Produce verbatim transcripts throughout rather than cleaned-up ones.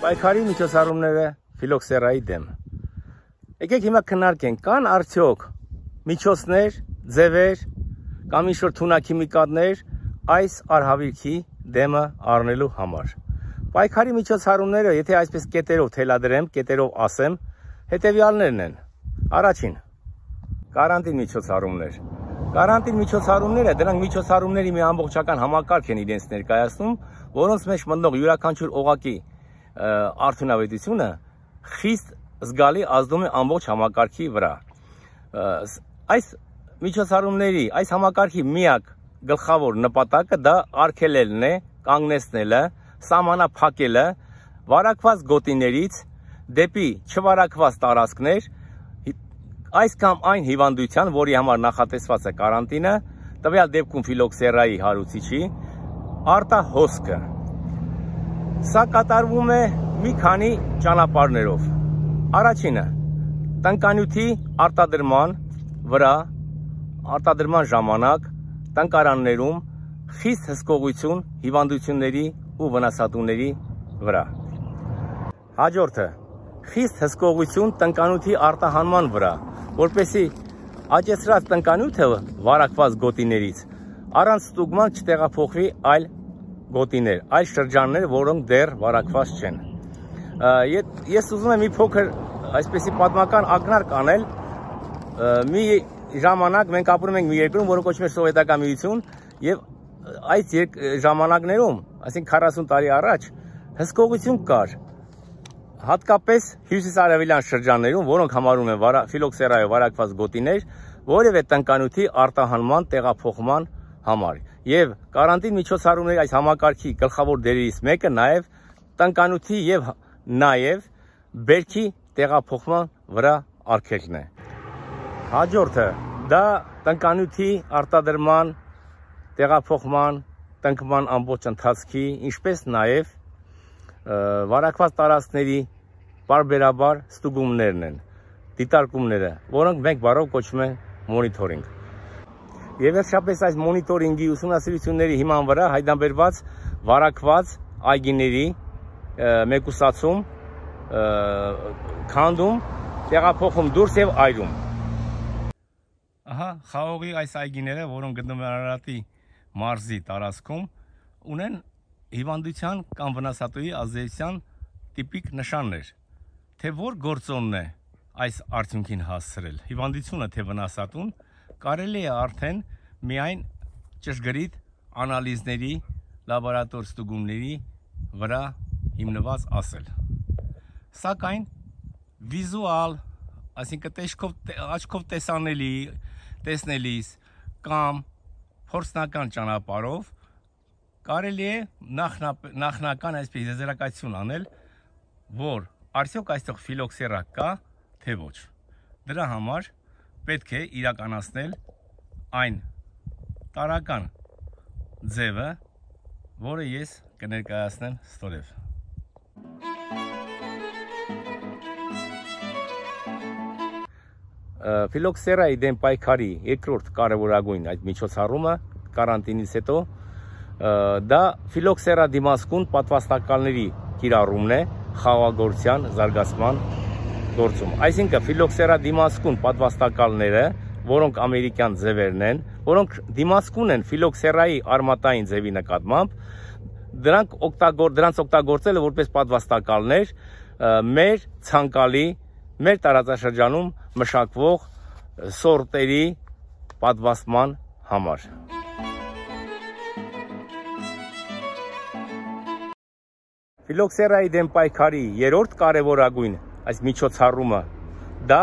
Պայքարի միջոցառումները ֆիլոքսերայի դեմ։ Եկեք հիմա քննարկենք, կան արդյոք միջոցներ, ձևեր կամ ինչ-որ թունաքիմիկատներ այս արհավիրքի դեմը առնելու համար։ Պայքարի միջոցառումները, եթե այսպես կետերով թելադրեմ, կետերով ասեմ, հետևյալներն են։ Առաջին, կարանտին միջոցառումներ։ Կարանտին միջոցառումները, դրանք միջոցառումների մի ամբողջական համակարգ են իրենց ներկայացնում, որոնց մեջ մտնող յուրաքանչյուր օղակի արդյունավետությունը խիստ զգալի ազդում է ամբողջ համակարգի վրա։ Այս միջոցառումների, այս համակարգի միակ գլխավոր նպատակը դա արգելելն է, կանգնեցնելը, սահմանափակելը վարակված գոտիներից դեպի չվարակված տարածքներ, այս կամ այն հիվանդության, որի համար նախատեսված է կարանտինը, տվյալ դեպքում ֆիլոքսերայի հարուցիչի, արտահոսքը։ Սա կատարվում է մի քանի ճանապարհներով։ Առաջինը, տնկանյութի արտադրման վրա, արտադրման ժամանակ, տնկարաններում խիստ հսկողություն հիվանդությունների ու վնասատուների վրա։ Հաջորդը, խիստ հսկողություն տնկանյութի արտահանման վրա, որպեսզի աճեցրած տնկանյութը վարակված գոտիներից առանց ստուգման չտեղափոխվի այլ գոտիներ, այլ շրջաններ, որոնք դեռ վարակված չեն։ Ես ուզում եմ մի փոքր այսպեսի պատմական ակնարկ անել։ Մի ժամանակ մենք ապրում ենք մի երկրում, որը կոչվում է Սովետական Միություն, եւ այս ժամանակներում, այսինքն քառասուն տարի առաջ, հսկողություն կար, հատկապես հյուսիսարևելյան շրջաններում, որոնք համարում են ֆիլոքսերայով վարակված գոտիներ, որևէ տնկանյութի արտահանման, տեղափոխման համար։ Եվ կարանտին միջոցառումների այս համակարգի գլխավոր դերերից մեկը նաև տնկանյութի եւ նաև բերքի տեղափոխման վրա արգելքն է։ Հաջորդը դա տնկանյութի արտադրման, տեղափոխման, տնկման ամբողջ ընթացքի, ինչպես նաև վարակված տարածքների պարբերաբար ստուգումներն են, դիտարկումները, որոնք մենք բառով կոչում են մոնիթորինգ։ Եվ վերջապես այս մոնիթորինգի ուսումնասիրությունների հիման վրա հայտնաբերված վարակված այգիների մեկուսացում, քանդում, տեղափոխում դուրս եւ այրում։ Ահա խաղողի այս այգիները, որոնք գտնվում են Արարատի մարզի տարածքում, ունեն հիվանդության կամ վնասատուի ազդեցության տիպիկ նշաններ, թե որ գործոնն է այս արդյունքին հասցրել, հիվանդությունը թե վնասատուն, կարելի է արդեն միայն ճշգրիտ անալիզների, լաբորատոր ստուգումների վրա հիմնված ասել։ Սակայն վիզուալ, այսինքն աչքով տեսանելի, տեսնելիս կամ փորձնական ճանապարհով կարելի է նախնական այսպես եզրակացություն անել, որ արդյոք այստեղ ֆիլոքսերա կա, թե ոչ։ Դրա համար պետք է իրականացնել այն տարրական ձևը, որը ես կներկայացնեմ ստորև։ Ֆիլոքսերայի դեմ պայքարի երկրորդ կարևորագույն այդ միջոցառումը կարանտինից հետո դա ֆիլոքսերա դիմացկուն պատվաստակալների կիրառումն է խաղաղագործության զարգացման գործում։ Այսինքն ֆիլոքսերա դիմացկուն պատվաստակալները, որոնք ամերիկյան ձևերն են, որոնք դիմացկուն են ֆիլոքսերայի արմատային ձևի նկատմամբ, դրանք օգտագոր դրանց օգտագործելը որպես պատվաստակալներ մեր ցանկալի, մեր տարածաշրջանում մշակվող սորտերի պատվաստման համար։ Ֆիլոքսերայի դեմ պայքարի երրորդ կարևորագույն այս միջոցառումը դա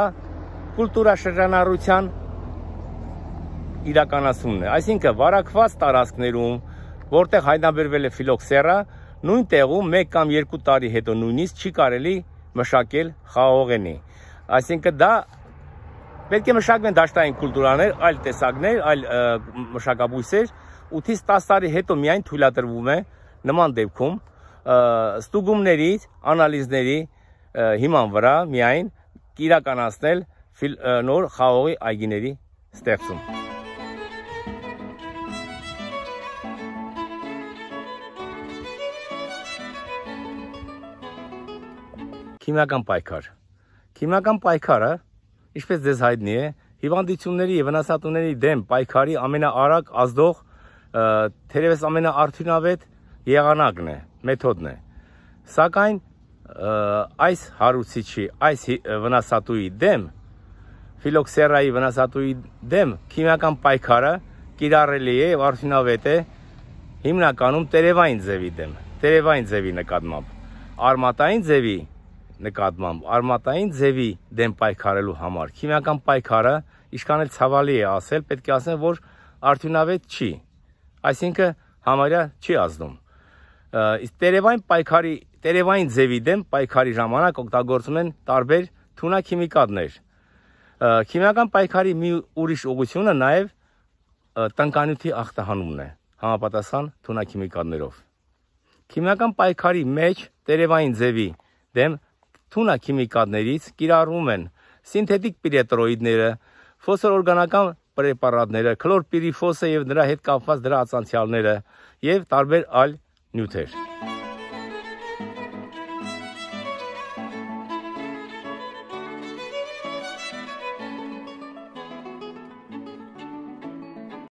կուլտուրաշրջանառության իրականացումն է, այսինքն վարակված տարածքներում, որտեղ հայտնաբերվել է ֆիլոքսերա, նույն տեղում մեկ կամ երկու տարի հետո նույնիսկ չի կարելի մշակել խաղողենի։ Այսինքն դա պետք է մշակվեն դաշտային կուլտուրաներ, այլ տեսակներ, այլ մշակաբույսեր, ութից տասը տարի հետո միայն թույլատրվում է նման դեպքում ստուգումներից, անալիզների հիման վրա միայն իրականացնել նոր խաղողի այգիների ստեղծում։ քիմիական պայքար։ Քիմիական պայքարը, ինչպես ձեզ հայտնի է, հիվանդությունների եւ վնասատուների դեմ պայքարի ամենաարագ ազդող, թերևս ամենաարդյունավետ եղանակն է, մեթոդն է։ Սակայն այս հարուցիչի, այս վնասատուի դեմ, ֆիլոքսերայի վնասատուի դեմ քիմիական պայքարը կիրառելի է եւ արդյունավետ է հիմնականում տերևային ձևի դեմ, տերևային ձևի նկատմամբ, արմատային ձևի նկատմամբ, արմատային ձևի դեմ պայքարելու համար քիմիական պայքարը ինչքան էլ ցավալի է ասել, պետք է ասեմ, որ արդյունավետ չի, այսինքն համարյա չի ազդում։ Իսկ տերևային պայքարի, տերևային ձևի դեմ պայքարի ժամանակ օգտագործում են տարբեր թունաքիմիկատներ։ Քիմիական պայքարի մի ուրիշ ուղղությունը նաև տնկանյութի ախտահանումն է, համապատասխան թունաքիմիկատներով։ Քիմիական պայքարի մեջ տերևային ձևի դեմ թունաքիմիկատներից կիրառվում են սինթետիկ պիրետրոիդները, ֆոսֆորօրգանական պրեպարատները, քլորպիրիֆոսը եւ նրա հետ կապված դրա ածանցյալները եւ տարբեր այլ նյութեր։